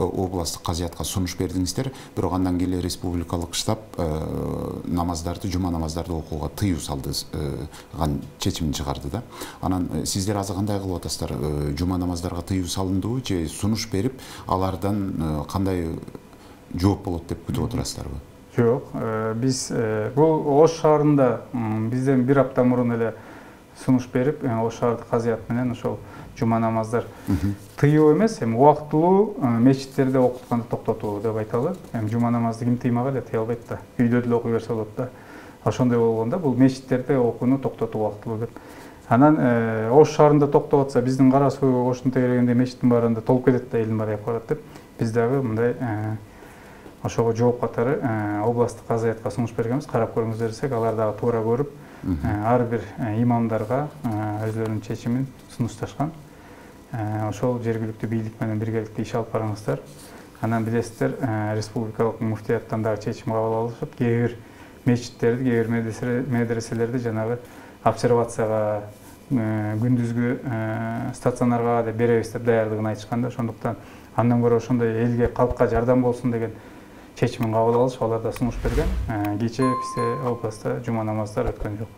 областтык казыятка сунуш бердиңиздер, бирок андан кийин республикалык штаб намаздарды, жума намаздарды окууга тыюу салдыган чечимин чыгарды да. Анан сиздер азыр кандай кылып атасыздар? Жума намаздарга тыюу салындыбы же сунуш берип, алардан кандай жооп болот деп күтүп отурасыздарбы? Жок, биз бул Ош шаарында бизден бир апта мурун эле сунуш берип, Ош шаардык казыят менен ошол жума намаздар тыюу эмес, эми убактылуу мечиттерде окутканды токтотуу деп айталы. Эми жума намазды ким тыймак эле, тыя албайт да. Үйдө деле окуй берсе болот да. Ошондой болгондо бул мечиттерде окууну токтотуу убактылуу деп. Анан Ош шаарында токтоп атса, биздин Кара Суу, Оштун тегерегинде мечиттин баарында толуп кетет да, элдин баары аяп барат деп. Биз дагы мындай ошого жооп катары областтык казыятка сунуш бергенбиз. Карап көрүңүздөр десек, алар дагы туура көрүп, ар бир имамдарга өзлөрүнүн чечимин сунушташкан. Ошол жергиликтүү бийлик менен биргеликте иш алып барыңыздар. Анан билесиздер, республикалык муфтияттан дагы чечим кабыл алышып, кээ бир мечиттерди, кээ бир медреселерди жанагы обсервацияга, күндүзгү стационарга деп беребиз деп даярдыгын айтышканда, ошондуктан андан көрө ошондой элге, калкка жардам болсун деген чечимин кабыл алышып, алар да сунуш берген. Кечээ бизде областта жума намаздар өткөн жок.